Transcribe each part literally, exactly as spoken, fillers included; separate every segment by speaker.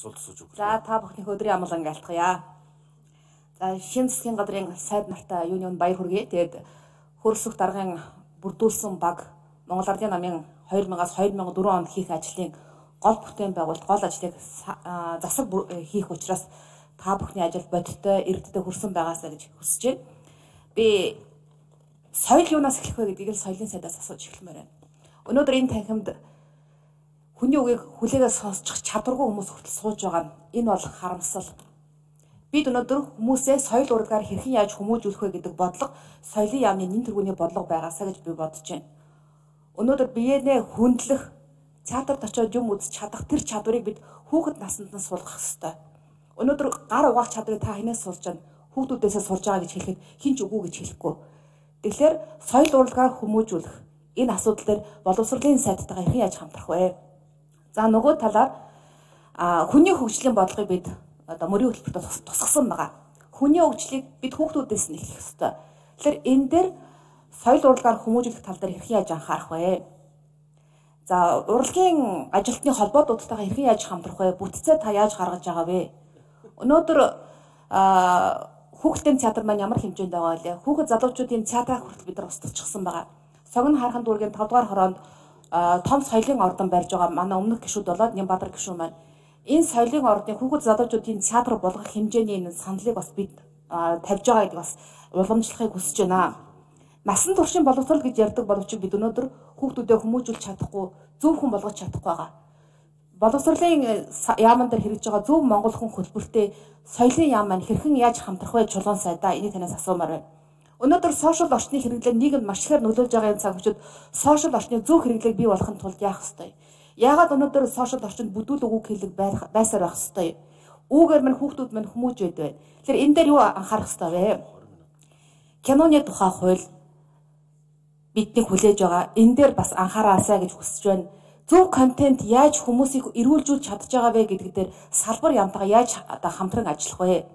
Speaker 1: асуулт асууж өгөх.
Speaker 2: За та бүхний өдрийн амгалан айлтгая. За шинэ засгийн газрын сайд нартай юуны өмнө баяр хүргэе. Тэгээд хөрсөх даргын бүрдүүлсэн баг Монгол Ардын намын хоёр мянгаас хоёр мянган дөрвөн онд хийх ажлын гол бүтээн байгуулалт гол ажлыг засаг хийх учраас та бүхний ажил бодиттой эрдэнэ хүрсэн байгаасаа гэж хүсэж байна. Би соёл юунаас эхлэх вэ гэдгийг л соёлын сайдаас асууж эхлэмээр байна. Өнөөдөр энэ танхимд хүний үгийг хүлээгээ сонсчих чадваргүй хүмүүс хүртэл сууж байгаа нь энэ бол харамсал. Бид өнөөдөр хүмүүсээ соёл урлагаар хэрхэн яаж хүмүүжүүлэх вэ гэдэг бодлого соёлын яамны нэн тэргүүний бодлого байгаасаа гэж би бодож байна. Өнөөдөр биенээ хүндлэх, театрт очиод юм үзэж чадах тэр чадварыг бид хүүхэд наснд нь суулгах ёстой. Өнөөдөр гар угаах чадварыг та хинээс сурж байна? Хүүхдүүдээсээ сурж байгаа гэж хэлэхэд хин ч үгүй гэж хэлэхгүй. Тэгэхээр соёл урлагаар хүмүүжүүлэх энэ асуудал дээр боловсролын сайдтайгаа хэрхэн яаж хамтрах вэ? За нөгөө талаар хүний хөгжлийн бодлогыг бид одоо мөрийн хөтөлбөрт тусгасан байгаа. Хүний хөгжлийг бид хүүхдүүдээс нь эхлэх ёстой. Тэгэхээр энэ дээр соёл урлагаар хүмүүжүүлэх тал дээр хэрхэн яаж анхаарах вэ? За урлагийн ажилтны холбоодуудтайгаа хэрхэн яаж хамтрах вэ? Бүтцээ та яаж гаргаж байгаа вэ? Өнөөдөр хүүхдийн театр маань ямар хэмжээнд байгаа вэ? Хүүхэд залуучуудын театраа хүртэл бид нар устгацчихсан байгаа. Согн хархан дүүргийн тавд дугаар хороонд том соёлын ордон барьж байгаа манай өмнөх гишүүд болоод Нямбатар гишүүн маань энэ соёлын ордын хүүхэд залуучуудын театр болгох хэмжээний энэ саналыг бас бид тавьж байгаа гэдэг бас уламжлахыг хүсэж байна. Насан туршийн боловсрол гэж ярьдаг боловч бид өнөөдөр хүүхдүүдэд хүмүүжүүлж чадахгүй, зөв хүн болгож чадахгүй байгаа. Боловсролын яаман дээр хэрэгж байгаа зөв монгол хүн хөтөлбөртэй соёлын яам маань хэрхэн яаж хамтрах вэ чулуун сайдаа энийг танаас асуумаар байна. Өнөөдөр сошиал орчны хэрэглээ нийгэмд маш ихээр нөлөөлж байгаа энэ цаг үед сошиал орчны зөв хэрэглээг бий болгохын тулд яах ёстой? Яагаад өнөөдөр сошиал орчинд бүдүүл үг хэлэг байсаар байх ёстой? Үүгээр мань хүүхдүүд мань хүмүүж байдаг. Тэгэхээр энэ дээр юу анхаарах ёстой вэ? Киноны тухай хууль бидний хүлээж байгаа. Энэ дээр бас анхаараасаа гэж хүсэж байна. Зөв контент яаж хүмүүсийг эрүүлжүүлж чадж байгаа вэ гэдэг дээр салбар яамтайгаа яаж одоо хамтран ажиллах вэ?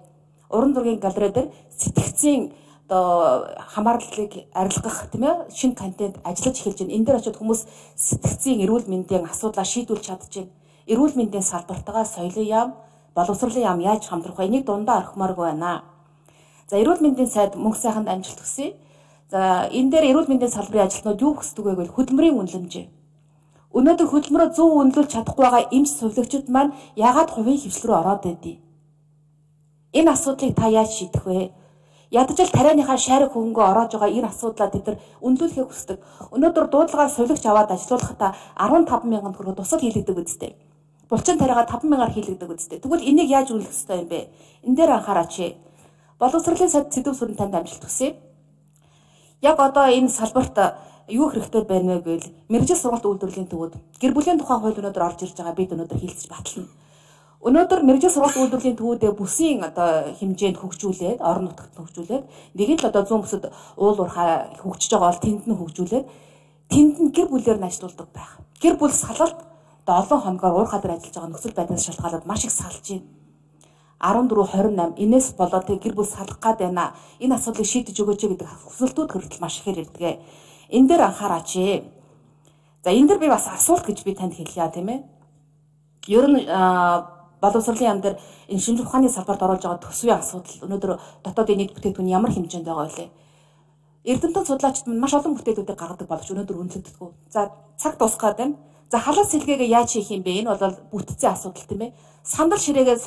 Speaker 2: Уран зургийн галерей дээр сэтгцийн одоо хамаарлалыг арилгах тийм ээ шинэ контент ажиллаж эхэлж байна. Энэ дээр очиод хүмүүс сэтгцийн эрүүл мэндийн асуудлаа шийдвүүлж чадчихэв. Эрүүл мэндийн салбартайгаа соёлын яам, боловсролын яам яаж хамтрах вэ? Энийг дундаа орхимооргүй байна. За эрүүл мэндийн сайд мөнх сайханд амжилт хүсье. За энэ дээр эрүүл мэндийн салбарын ажилтнууд юу хүсдэг вэ гэвэл хөдөлмөрийн үнэлэмж. Өнөөдөр хөдөлмөрөө зөв үнэлж чадахгүй байгаа эмч сувлагчид маань яагаад хувийн хвшил рүү ороод байдгийг? Энэ асуудлыг та яаж шийдэх вэ? Ядчил тарианыхаа шарик хөнгөө ороож байгаа энэ асуудлаа бид нар үнэлүүлэхийг хүсдэг. Өнөөдөр дуудлагаар сувлагч аваад ажиллуулахдаа арван таван мянган төгрөг тусал хийлэгдэг үстэй. Булчин тариагаа таван мянгаар хийлэгдэг үстэй. Тэгвэл энийг яаж үнэлэх ёстой юм бэ? Энэ дээр анхаараач. Боловсролын сайд сэдв сүрэн танд амжилт хүсье. Яг одоо энэ салбарт юу хэрэгтэй байна вэ гэвэл мэргэжил сургалт үйлдвэрлэлийн төвөд гэр бүлийн тухай хууль өнөөдөр орж ирж байгаа бид өнөөдөр хилцэж батлана. Өнөөдөр мэргэжил сургалт үйлдвэрлэлийн төвүүдээ бүсийн одоо хэмжээнд хөгжүүлээд орон нутагт хөгжүүлээд нэг л одоо зүүн бүсэд уул уурхай хөгжиж байгаа бол тэнд нь хөгжүүлээд тэнд нь гэр бүлээр нь ажилуулдаг байх. Гэр бүл салалт одоо олон хоногоор уурхай дээр ажиллаж байгаа нөхцөл байдлаас шалтгаалаад маш их салж байна. арван дөрөв хорин восемь энэс болоод гэр бүл салах гад байна. Энэ асуудлыг шийдэж өгөөч гэдэг хүсэлтүүд хүртэл маш ихээр ирдэг. Энэ дээр анхаараач. За энэ дээр би бас асуулт гэж би танд хэлье тийм ээ. Ер нь боловсролын яам дээр энэ шинжлэх ухааны салбарт оруулж байгаа төсвийн асуудал өнөөдөр дотоодын нийт бүтээгдэхүүн ямар хэмжээнд байгаа вэ? Эрдэмтэн судлаачид маш олон бүтээлүүдийг гаргадаг боловч өнөөдөр үнэлэгддэггүй. За цаг дуусгаад байна. За халаас сэлгээгээ яаж хийх юм бэ? Энэ бол бүтцийн асуудал тийм ээ. Сандал ширээгээ